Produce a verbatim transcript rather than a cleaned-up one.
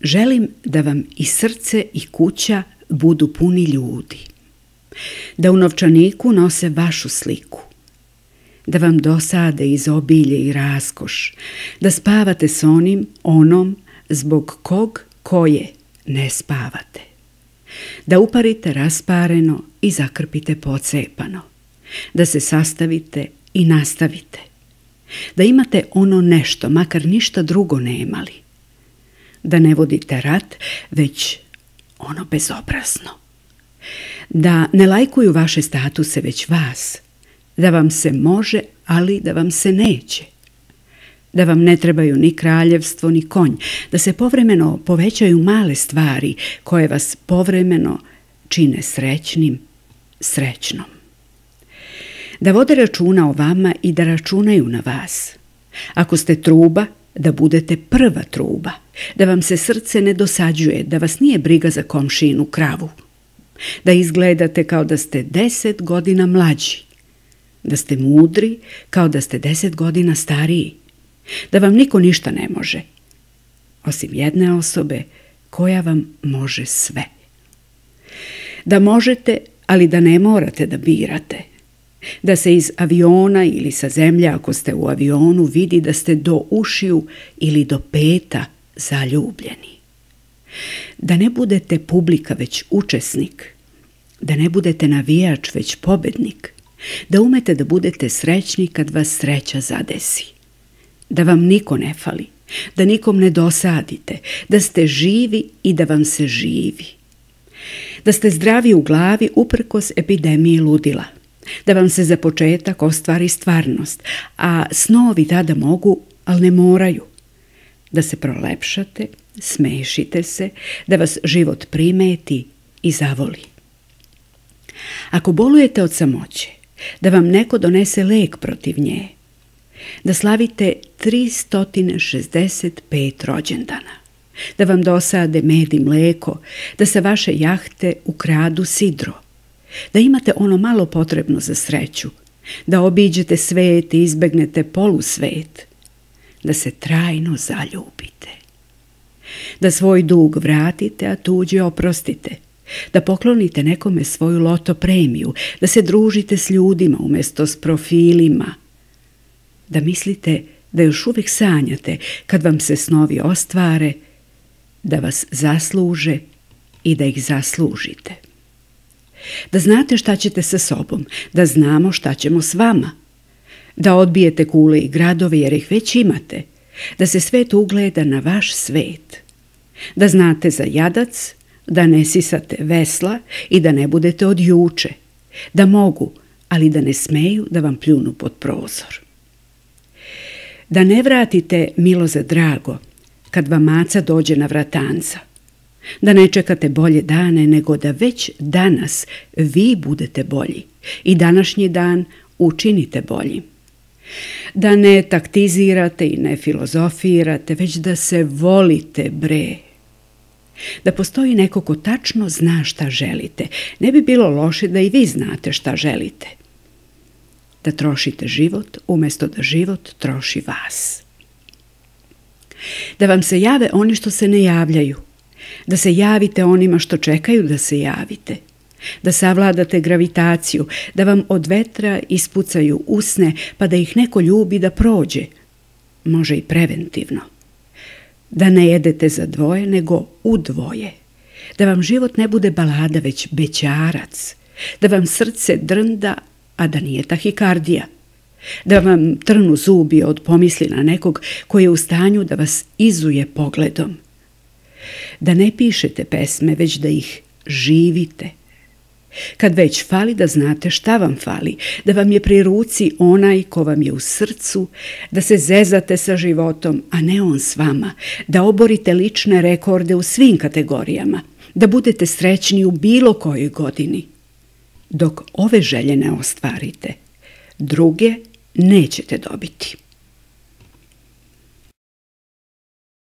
želim da vam i srce i kuća budu puni ljudi, da u novčaniku nose vašu sliku, da vam dosade izobilje i raskoš, da spavate s onim, onom, zbog kog, koje ne spavate, da uparite raspareno i zakrpite pocepano, da se sastavite i nastavite, da imate ono nešto, makar ništa drugo nemali, da ne vodite rat, već ono bezobrazno, da ne lajkuju vaše statuse, već vas, da vam se može, ali da vam se neće, da vam ne trebaju ni kraljevstvo, ni konj, da se povremeno povećaju male stvari koje vas povremeno čine srećnim, srećnom. Da vode računa o vama i da računaju na vas. Ako ste truba, da budete prva truba, da vam se srce ne dosađuje, da vas nije briga za komšinu kravu, da izgledate kao da ste deset godina mlađi, da ste mudri kao da ste deset godina stariji, da vam niko ništa ne može, osim jedne osobe koja vam može sve. Da možete, ali da ne morate da birate, da se iz aviona ili sa zemlje, ako ste u avionu, vidi da ste do ušiju ili do peta zaljubljeni. Da ne budete publika, već učesnik, da ne budete navijač, već pobednik, da umete da budete srećni kad vas sreća zadesi, da vam niko ne fali, da nikom ne dosadite, da ste živi i da vam se živi, da ste zdravi u glavi uprkos epidemiji ludila, da vam se za početak ostvari stvarnost, a snovi tada mogu, ali ne moraju, da se prolepšate, smešite se, da vas život primeti i zavoli. Ako bolujete od samoće, da vam neko donese lek protiv nje, da slavite tristo šezdeset pet rođendana, da vam dosade med i mleko, da sa vaše jahte ukradu sidro, da imate ono malo potrebno za sreću, da obiđete svet i izbegnete polusvet, da se trajno zaljubite, da svoj dug vratite, a tuđi oprostite, da poklonite nekome svoju loto premiju, da se družite s ljudima umjesto s profilima, da mislite da još uvijek sanjate kad vam se snovi ostvare, da vas zasluže i da ih zaslužite. Da znate šta ćete sa sobom, da znamo šta ćemo s vama, da odbijete kule i gradove jer ih već imate, da se svet ugleda na vaš svet, da znate za jadac, da ne sisate vesla i da ne budete od juče, da mogu, ali da ne smeju da vam pljunu pod prozor. Da ne vratite milo za drago kad vam maca dođe na vratanca, da ne čekate bolje dane nego da već danas vi budete bolji i današnji dan učinite boljim. Da ne taktizirate i ne filozofirate, već da se volite, bre. Da postoji neko ko tačno zna šta želite. Ne bi bilo loše da i vi znate šta želite. Da trošite život umjesto da život troši vas. Da vam se jave oni što se ne javljaju. Da se javite onima što čekaju da se javite. Da savladate gravitaciju, da vam od vetra ispucaju usne pa da ih neko ljubi da prođe. Može i preventivno. Da ne jedete za dvoje, nego u dvoje. Da vam život ne bude balada, već bećarac. Da vam srce drnda, a da nije tahikardija. Da vam trnu zubi od pomisli na nekog koji je u stanju da vas izuje pogledom. Da ne pišete pesme, već da ih živite. Kad već fali, da znate šta vam fali, da vam je pri ruci onaj ko vam je u srcu, da se zezate sa životom, a ne on s vama, da oborite lične rekorde u svim kategorijama, da budete srećni u bilo kojoj godini. Dok ove želje ne ostvarite, druge nećete dobiti.